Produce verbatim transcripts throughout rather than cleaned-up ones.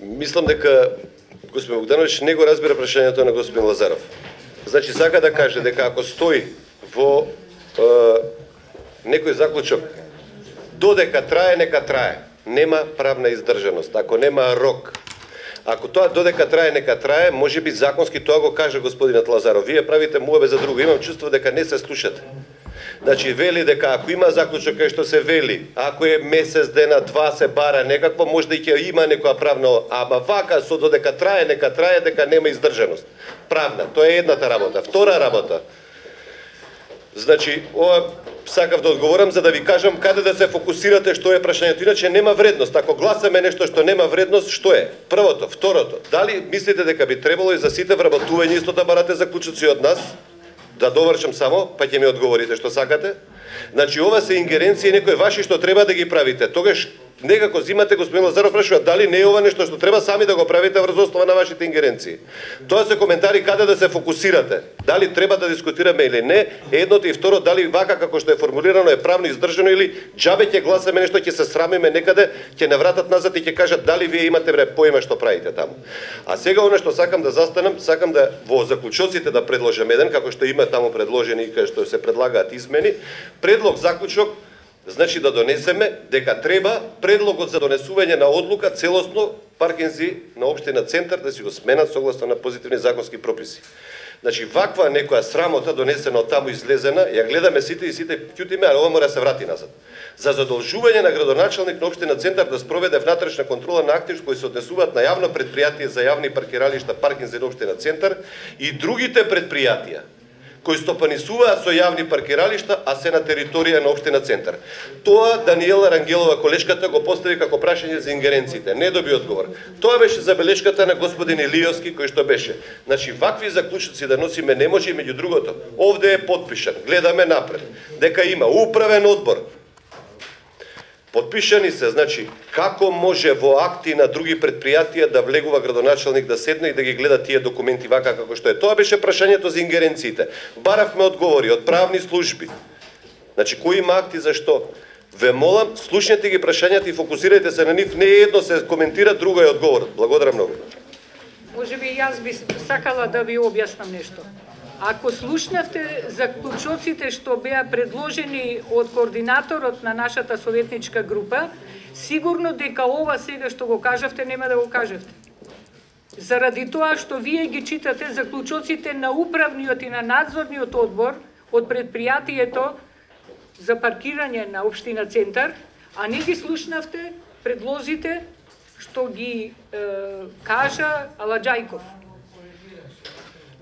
Мислам дека господин Богдановиќ не го разбира прашањето на господин Лазаров. Значи, сака да каже дека ако стои во е, некој заклучок, додека трае, нека трае. Нема правна издржаност. Ако нема рок, ако тоа додека трае, нека трае, може би законски тоа го каже господинот Лазаров. Вие правите муабе за друго. Имам чувство дека не се слушате. Значи, вели дека ако има заклучок кај што се вели, ако е месец дена, два се бара некакво, може да и ќе има некоја правна, ама вака со додека трае, нека трае, дека нема издржаност. Правна, тоа е едната работа. Втора работа. Значи, ова сакав да одговорам за да ви кажам каде да се фокусирате, што е прашањето. Иначе нема вредност. Ако гласаме нешто што нема вредност, што е? Првото, второто. Дали мислите дека би требало и за сите вработување исто да барате заклучоци од нас? Да довршам само, па ќе ми одговорите што сакате. Значи, ова се ингеренции некои ваши што треба да ги правите. Тогаш некако зимате, господин Лазаров прашува, дали не е ова нешто што треба сами да го правите врз основа на вашите ингеренции. Тоа се коментари каде да се фокусирате. Дали треба да дискутираме или не, едното и второ, дали вака како што е формулирано е правно издржано или џабе ќе гласаме нешто, ќе се срамиме некаде, ќе не вратат назад и ќе кажат дали вие имате бре поима што правите таму. А сега оно што сакам да застанам, сакам да во заклучоците да предложам еден, како што има таму предложени и кај што се предлагаат измени, предлог заклучок. Значи да донесеме дека треба предлогот за донесување на одлука целосно паркинзи на општина Центар да си го сменат согласно на позитивни законски прописи. Значи ваква некоја срамота донесена од таму излезена, ја гледаме сите и сите ќутиме, а ова мора да се врати назад. За задолжување на градоначалник на општина Центар да спроведе внатрешна контрола на активи кои се однесуваат на јавно предпријатие за јавни паркиралишта паркинзи на општина Центар и другите предпријатија кои стопанисуваат со јавни паркиралишта, а се на територија на општина Центар. Тоа Даниела Рангелова, колешката, го постави како прашање за ингеренциите. Не доби одговор. Тоа беше забелешката на господин Илиовски, кој што беше. Значи, вакви заклучоци да носиме не може, меѓу другото. Овде е подпишан. Гледаме напред. Дека има управен одбор. Подпишани се, значи, како може во акти на други предпријатија да влегува градоначалник да седне и да ги гледа тие документи вака како што е. Тоа беше прашањето за ингеренциите. Баравме одговори од правни служби. Значи, кои има акти за што? Ве молам, слушнете ги прашањата и фокусирајте се на нив. Не едно се коментира, друго е одговорот. Благодарам многу. Може би јас би сакала да ви објаснам нешто. Ако слушнавте заклучоците што беа предложени од координаторот на нашата советничка група, сигурно дека ова сега што го кажавте нема да го кажавте. Заради тоа што вие ги читате заклучоците на управниот и на надзорниот одбор од предпријатието за паркирање на општина Центар, а не ги слушнавте предлозите што ги е, кажа Аладжајков.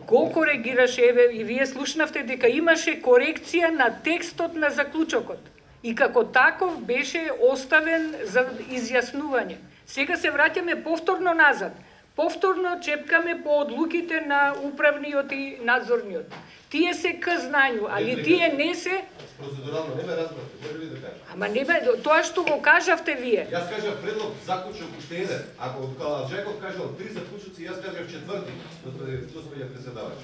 Го коригираше, еве, и вие слушнавте дека имаше корекција на текстот на заклучокот. И како таков беше оставен за изјаснување. Сега се враќаме повторно назад. Повторно чепкаме по одлуките на управниот и надзорниот. Тие се к знању, али тие не се... Процедурално не ме разбрате, може ли да кажа? Ама не ме, тоа што го кажавте вие. Јас кажав предлог заклучок уште еден. Ако Каладжеков кажал три заклучоци, јас кажав четврти, господине председавач.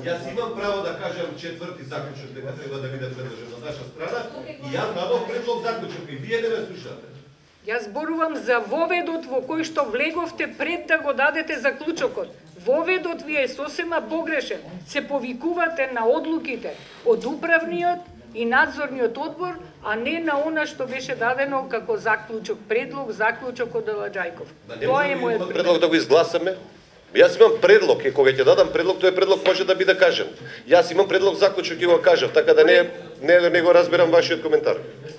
Јас имам право да кажам четврти заклучок дека треба да биде предложен од наша страна и јас дадов предлог заклучок и вие не ме слушате. Јас зборувам за воведот во кој што влеговте пред да го дадете заклучокот. Воведот ви е сосема погрешен. Се повикувате на одлуките од управниот и надзорниот одбор, а не на она што беше дадено како заклучок, предлог, заклучок од Аладжајков. Тоа е мојот предлог. Предлог да го изгласаме. Јас имам предлог и кога ќе дадам предлог, тој предлог може да биде кажан. Јас имам предлог заклучок и го кажав, така да не не, не го разбирам вашиот коментар.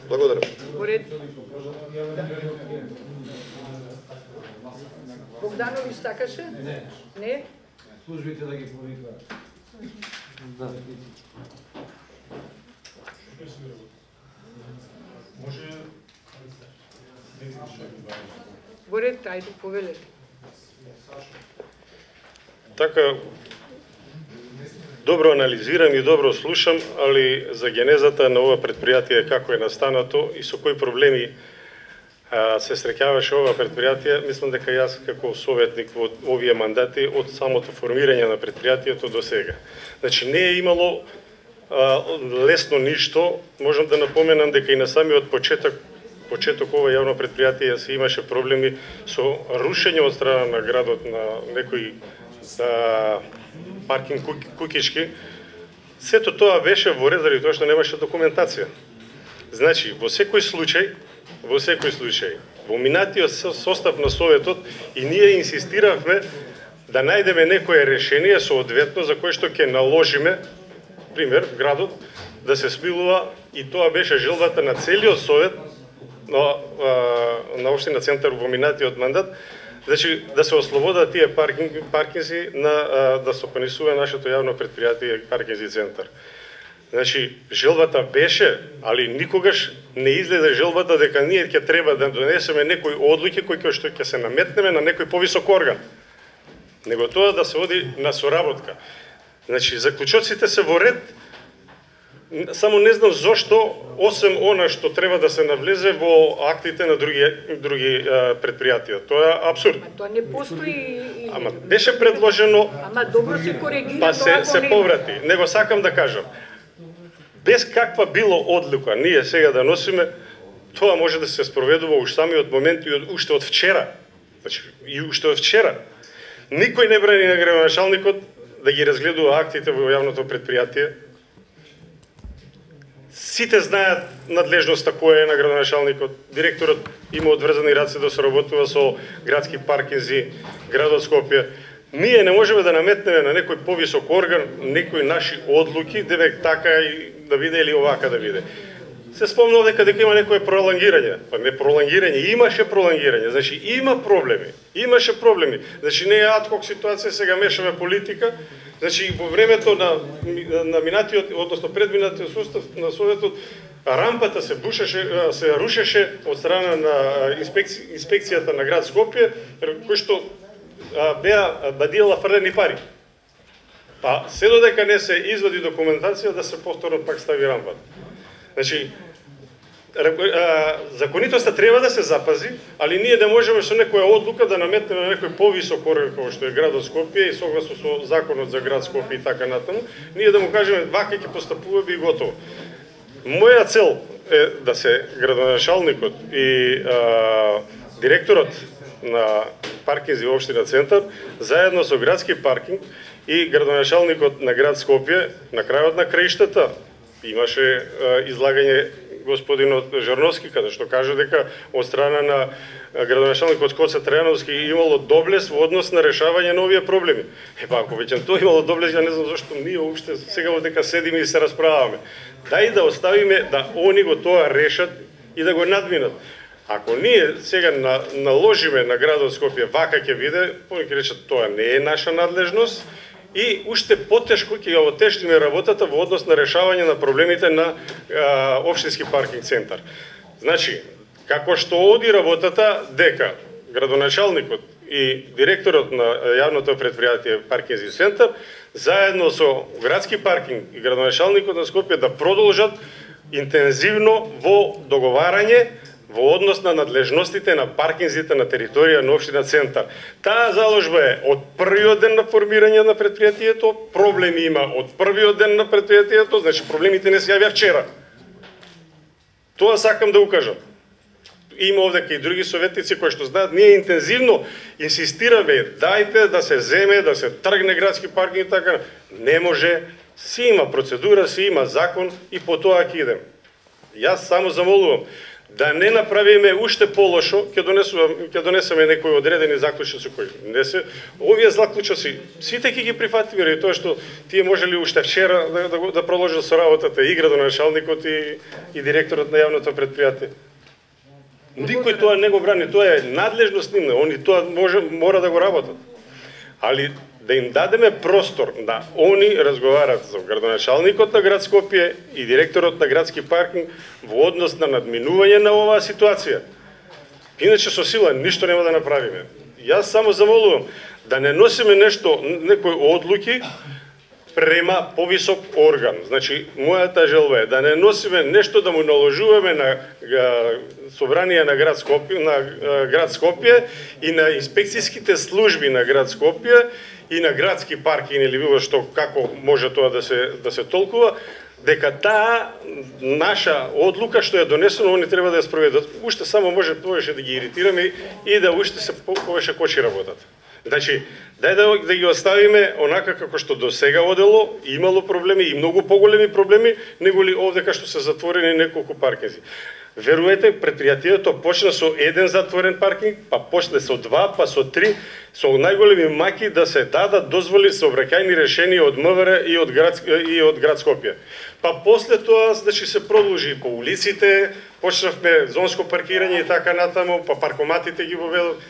Благодарам. Богдановиќ сакаше? Не. Не? Службите да ги повикаат. Да. Може Борет, ајде, повелете. Така, добро анализирам и добро слушам, али за генезата на ова предпријатие како е настанато и со кои проблеми а, се среќаваше ова предпријатие, мислам дека јас како советник во овие мандати од самото формирање на предпријатието до сега. Значи не е имало а, лесно ништо, можам да напоменам дека и на самиот почеток почеток ова јавно предпријатие се имаше проблеми со рушење од страна на градот на некои а, паркинг кукички. Сето тоа беше во ред заради тоа што немаше документација. Значи, во секој случај, во секој случај, во минатиот состав на Советот и ние инсистиравме да најдеме некое решение соодветно за кое што ќе наложиме, пример, градот да се смилува, и тоа беше желбата на целиот Совет на, на Општина Центар во минатиот мандат, значи да се ослободат тие паркинг, паркинзи на, да се понесува нашето јавно предпријатие Паркинзи Центар. Значи, желбата беше, али никогаш не излезе желбата дека ние ќе треба да донесеме некои одлуки кои што ќе се наметнеме на некој повисок орган, него тоа да се оди на соработка. Значи, заклучоците се во ред, само не знам зошто, осем она што треба да се навлезе во актите на други, други а, предпријатија. Тоа е абсурд. А тоа не постои. Ама беше предложено. Ама добро се коригира. Па се, се поврати. Него сакам да кажам. Без каква било одлука ние сега да носиме, тоа може да се спроведува уж самиот момент и уште од вчера. Значи, и уште од вчера. Никој не брани на градоначалникот да ги разгледува актите во јавното предпријатие. Сите знаат надлежноста која е на градоначалникот. Директорот има одврзани раце да соработува со градски паркинзи, градот Скопје. Ние не можеме да наметнеме на некој повисок орган некои наши одлуки, девек така и да биде или овака да биде. Се спомнав дека дека има некое пролонгирање. Па не пролонгирање, имаше пролонгирање. Значи има проблеми. Имаше проблеми. Значи не е адхок ситуација, сега мешаме политика. Значи во времето на на минатиот, односно предминатиот состав на Советот, рампата се бушеше, се рушеше од страна на инспекци, инспекцијата на град Скопје, кој што беа бадиела фрлени пари. Па се додека не се извади документација да се повторно пак стави рампата. Значи, законитоста треба да се запази, али ние да можеме со некоја одлука да наметнеме на некој повисок орган како што е градот Скопје и согласно со законот за град Скопје и така натаму, ние да му кажеме вака ќе постапуваме и готово. Моја цел е да се градоначалникот и а, директорот на паркинзи во Општина Центар заедно со градски паркинг и градоначалникот на град Скопје на крајот на краиштата имаше а, излагање господинот Жарновски, каде што кажа дека од страна на градоначалникот Коца Трајановски имало доблес во однос на решавање на овие проблеми. Е па ако веќе тоа имало доблес, ја не знам зашто ние уопште сега дека седиме и се расправаме. Дај да оставиме да они го тоа решат и да го надминат. Ако ние сега на, наложиме на градот Скопје вака ќе биде, повеќе речат тоа не е наша надлежност, и уште потешко ќе ја отежниме работата во однос на решавање на проблемите на а, Општински паркинг центар. Значи, како што оди работата, дека градоначалникот и директорот на јавното предпријатие Паркинзи Центар, заедно со градски паркинг и градоначалникот на Скопје да продолжат интензивно во договарање во однос на надлежностите на паркинзите на територија на Општина Центар. Таа заложба е од првиот ден на формирање на предпријатието, проблеми има од првиот ден на предпријатието, значи проблемите не се јавија вчера. Тоа сакам да укажам. Има овдека и други советници кои што знаат, ние интензивно инсистираме, дајте да се земе, да се тргне градски паркинг и така. Не може, си има процедура, си има закон и по тоа ќе идем. Јас само замолувам да не направиме уште полошо, ќе донесувам, ќе донесеме некои одредени заклучоци кои не се. Овие заклучоци сите ќе ги прифатиме, и тоа што тие можели уште вчера да, да, да продолжат со работата и градоначалникот и, и директорот на јавното предпријатие. Никој тоа не го брани, тоа е надлежност нивна, они тоа може, мора да го работат. Али да им дадеме простор да они разговарат со градоначалникот на град Скопје и директорот на градски паркинг во однос на надминување на оваа ситуација. Иначе со сила ништо нема да направиме. Јас само замолувам да не носиме нешто, некои одлуки према повисок орган. Значи, мојата желба е да не носиме нешто да му наложуваме на собрание на град Скопје, на град Скопје и на инспекцијските служби на град Скопје и на градски паркинг или било што, како може тоа да се да се толкува, дека таа наша одлука што е донесена, они треба да ја спроведат. Уште само може повеќе да ги иритираме и да уште се повеќе кочи работат. Значи, дај да, да ги оставиме онака како што до сега одело, имало проблеми и многу поголеми проблеми, него ли овде кај што се затворени неколку паркинзи. Веруете, предпријатието почна со еден затворен паркинг, па почне со два, па со три, со најголеми маки да се дадат дозволи сообраќајни решенија од МВР и од град и од град Скопје. Па после тоа, значи, се продолжи по улиците, почнавме зонско паркирање и така натаму, па паркоматите ги воведов.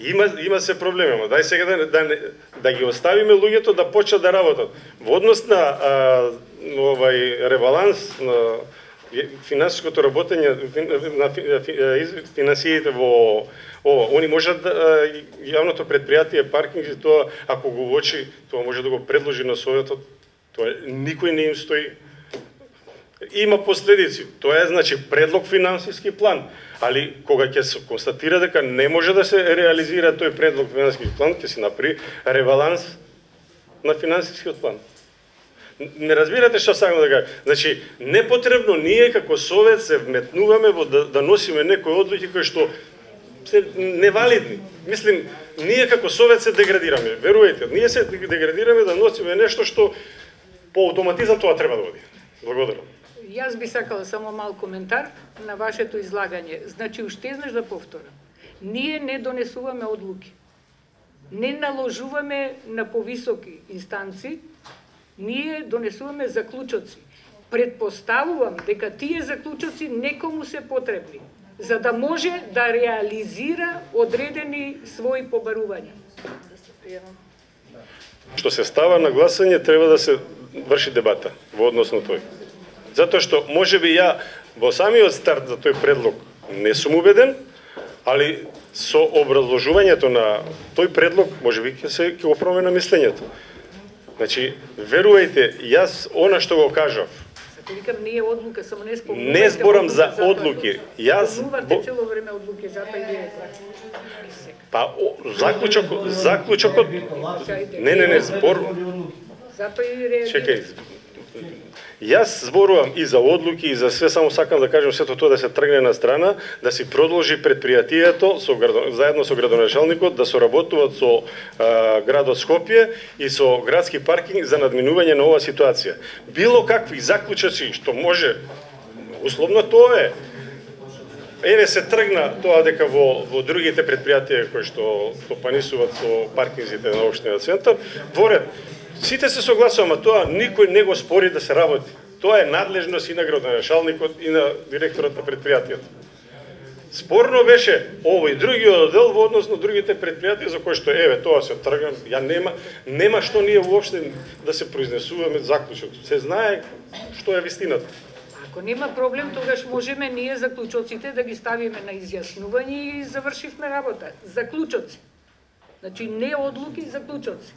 Има има се проблеми, но дај сега да да, да ги оставиме луѓето да почнат да работат. Во однос на а, овај ребаланс на финансиското работење на финансиите во ова, они можат да, јавното предпријатие паркинг, тоа ако го уочи, тоа може да го предложи на советот, тоа никој не им стои. Има последици. Тоа е, значи, предлог финансиски план, али кога ќе се констатира дека не може да се реализира тој предлог финансиски план, ќе се направи ребаланс на финансискиот план. Не разбирате што сакам да кажам. Значи, непотребно ние како совет се вметнуваме во да, да носиме некои одлуки кои што се невалидни. Мислим, ние како совет се деградираме. Веруете, ние се деградираме да носиме нешто што по автоматизам тоа треба да води. Благодарам. Јас би сакала само мал коментар на вашето излагање. Значи, уште еднаш да повторам. Ние не донесуваме одлуки. Не наложуваме на повисоки инстанци, ние донесуваме заклучоци. Предпоставувам дека тие заклучоци некому се потребни, за да може да реализира одредени своји побарувања. Што се става на гласање, треба да се врши дебата во однос на тој. Затоа што можеби ја во самиот старт за тој предлог не сум убеден, али со образложувањето на тој предлог можеби ќе се ќе го промена мислењето. Значи, верувајте, јас она што го кажав. Зато викам не е одлука, само не спомнувате. Не зборам за одлуки. Јас спомнувате цело време одлуки, затоа и вие Па о, заклучок, заклучокот Не, не, не, збор. Затоа и реагирате. Чекај. Јас зборувам и за одлуки и за све, само сакам да кажем сето тоа да се тргне на страна, да си продолжи предпријатието со заедно со градоначалникот да соработуваат со а, градот Скопје и со градски паркинг за надминување на оваа ситуација. Било какви заклучоци што може, условно тоа е. Еве се тргна тоа дека во во другите предпријатија кои што стопанисуваат со паркинзите на општина центар, во ред. Сите се согласуваме, тоа никој не го спори да се работи. Тоа е надлежност и на градоначалникот и на директорот на предпријатието. Спорно беше овој другиот оддел во однос на другите предпријатија за кои што еве тоа се тргна, ја нема нема што ние воопште да се произнесуваме заклучок. Се знае што е вистината. Ако нема проблем, тогаш можеме ние заклучоците да ги ставиме на изјаснување и завршивме работа. Заклучоци. Значи не одлуки, заклучоци.